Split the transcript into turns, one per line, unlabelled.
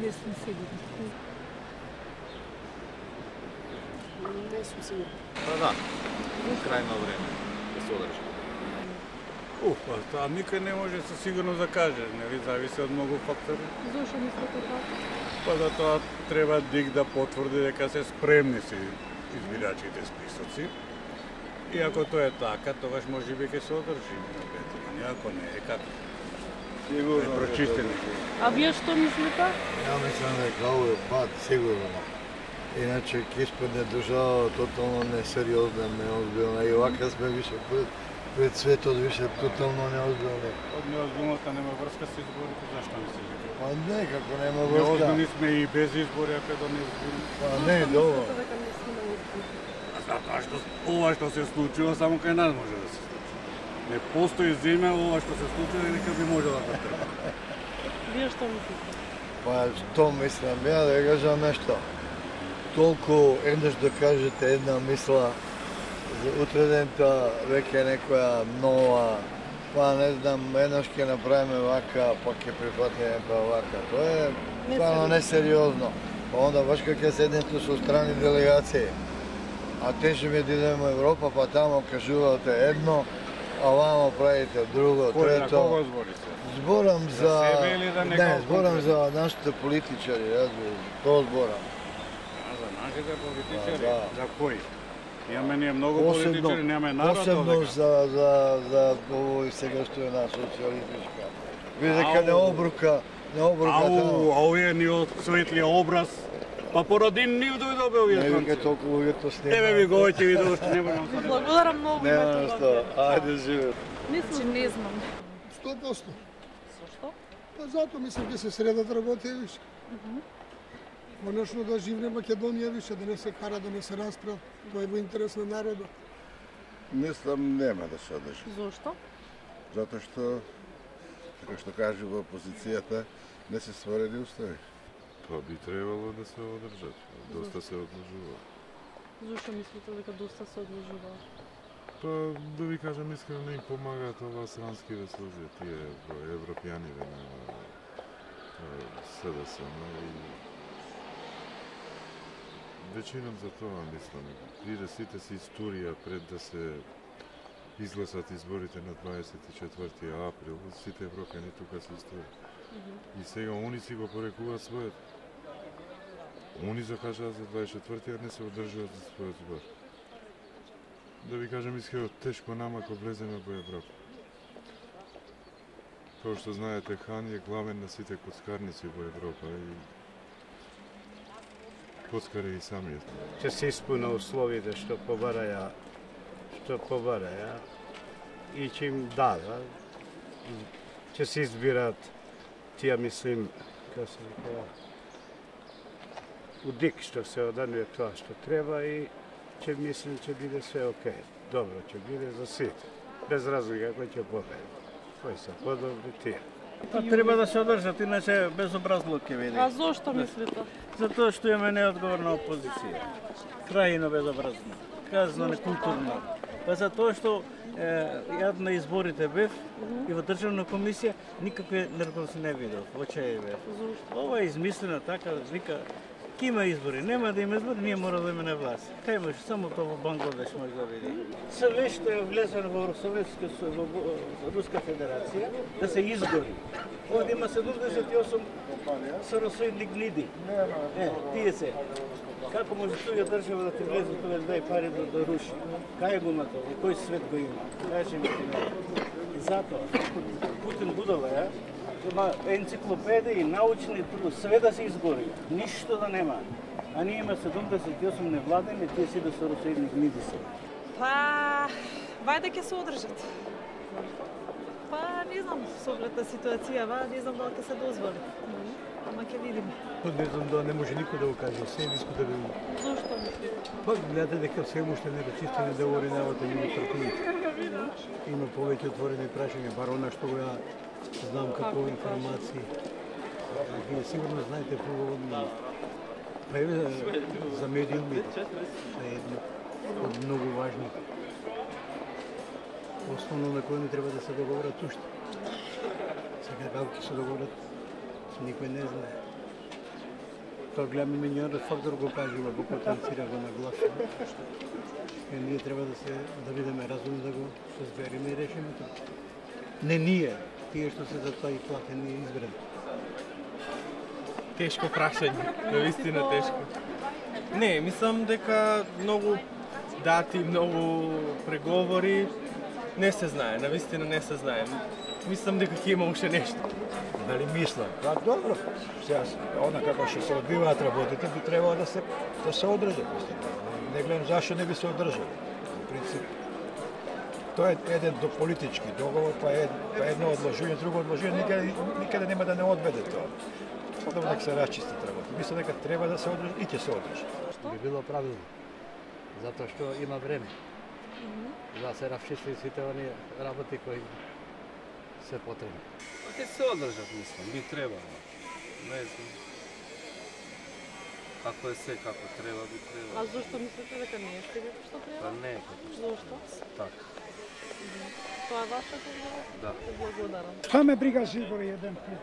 Не сум сигурна.
Не сум сигурна.
Па да, крајно време да се одржи.
Па тоа никој не може со сигурно да каже, нели зависи од многу фактори.
Зошто мислите така?
Па да тоа треба ДИК да потврди дека се спремни си избирачите списоци. И ако тоа е така, тогаш можеби ќе се одржи. Ако не е како?
Сигурно.
Прочистени.
А вие што мислите?
Ја мислам дека овој пат сигурно. Иначе ќе испадне држава тотално несериозна, неозбилна. И овака сме више пред светот, више тотално неозбилни.
Од неозбилноста нема врска со изборите, зашто не се вика?
Па не, како нема врска.
Неозбилни сме и без избори, ако да не изборим.
Па не, добро.
Дека не сме неозбилни?
Затоа што ова што се случува само кај нас може да се случи. Не постои земја ова што се случува дека би можела да трпи.
Вие што мислите?
Па што мислам, ја да кажам нешто. Толку еднаш да кажете една мисла, за утре дента веќе некоја нова, па не знам, еднаш ќе направиме вака, па ќе прифатиме па вака. Тоа е стварно несериозно. Па онда баш кога ќе седнете со страни делегации, а тежиме да идеме во Европа, па тамо кажувате едно, а вамо правите друго, трето.
На кого зборите?
Зборам за...
себе или за некој
Не, зборам
конкретно?
за нашите политичари, разбираш, тоа зборам.
За нашите политичари?
Да.
За кои? Имаме ние многу политичари, немаме народ
посебно
овдека.
за овој сега што е на социјалистичка. Види дека не обрука таму.
А овие ни од светлиот образ, па поради нив дојдобе овие
Не вика
транци.
толку луѓето снима.
Еве ви го ќе ви доште, не можам да.
Благодарам многу.
Нема што, ајде живе.
Мислам, не знам.
100%.
Зошто?
Па затоа мислам ќе се средат работи више. Конечно да живне Македонија више, да не се кара, да не се расправа. Тоа е во интерес на народот.
Мислам нема да се одржи.
Зошто?
Затоа што, како што кажу во опозицијата, не се створени устави.
Па би требало да се одржат. Доста се одложува.
Зошто мислите дека доста се одложува?
Па да ви кажам искрено не им помагаат ова сранскиве служби, тие европјаниве на СДС, и вечином за тоа мислам. Биде сите си историја пред да се изгласат изборите на 24 април, сите европјани тука се историја. И сега они си го порекуваат својот. Они закажаат за 24-ти, а не се одржуваат за својот збор. Да ви кажам искрено, тешко нама кога влеземе во Европа. Тоа што знаете, Хан е главен на сите коцкарници во Европа и коцкари и самиот.
Ќе се испуна условите што побараја и ќе им дадат. Ќе се избират тие, мислим, како се вика, удик што се оданува тоа што треба и ќе мислим ќе биде све окей. Добро ќе биде за сите. Без разлика кој ќе победи. Кои се подобри тие.
Па треба да се одржат, иначе безобразлук ќе биде.
А зошто мислите?
Затоа што имаме неодговорна опозиција. Крајно безобразно, казно некултурно. Па затоа што јад на изборите бев и во државна комисија никакви нервози не видов, во чај бев. Ова е измислено така, вика, ки има избори, нема да има избори, ние мора да имаме на власт. Кај имаш само тоа во Бангладеш може да види. Све што е влезено во Руска Федерација да се изгори. Овде има 78 соросоидни гниди. Тие се. Како може туѓа држава да ти влезе тука да дај пари да руши? Кај го има тоа? Кој свет го има? Кажи ми. И затоа Путин будала, има енциклопедии, научни труд, све да се изгори, ништо да нема. А ние има 78 невладени, тие си да се соросоидни гниди се.
Па, вајде ќе се одржат. Па, не знам, со оглед на ситуацијава, не знам дали ќе се дозволи. Ама ќе видиме.
Не знам да не може никој да го каже, се дискутира.
Зошто мислите?
Па гледате дека се уште не речистени договори навата меѓу партиите. Има повеќе отворени прашања, бар она што го ја знам како информации. Вие сигурно знаете поголовно од мене. Па еве за медиумите е едно од многу важни. Основно на кој не треба да се договорат уште. Сега како ќе се договорат, никој не знае. Тоа гледаме меѓународен фактор го кажува, го потенцира, го нагласува. И ние треба да бидеме разумни, да го созбериме и решиме тоа. Не ние, тие што се за тоа и платени и избрани.
Тешко прашање, навистина тешко. Не, мислам дека многу дати, многу преговори не се знае, навистина не се знае. Мислам дека ќе има уште нешто.
Дали мислам? Па добро, сега она како што се одвиваат работите би требало да се одржат. Не гледам зашто не би се одржали. Во принцип, тоа е еден политички договор, па едно одложување, друго одложување, никаде нема да не одведе тоа. Подобро дека се расчистат работи. Мислам дека треба да се одржи и ќе се одржи.
Би било правилно, затоа што има време да се расчисти сите оние работи кои се потребни.
Ќе се одржат, мислам, би требало. Не знам. Ако е се како треба, би требало.
А зашто мислите дека не е сега што треба?
Па не е како што.
Зошто?
Така.
Тоа е вашата одговор?
Да.
Благодарам.
Šta me briga za izbore jedan put?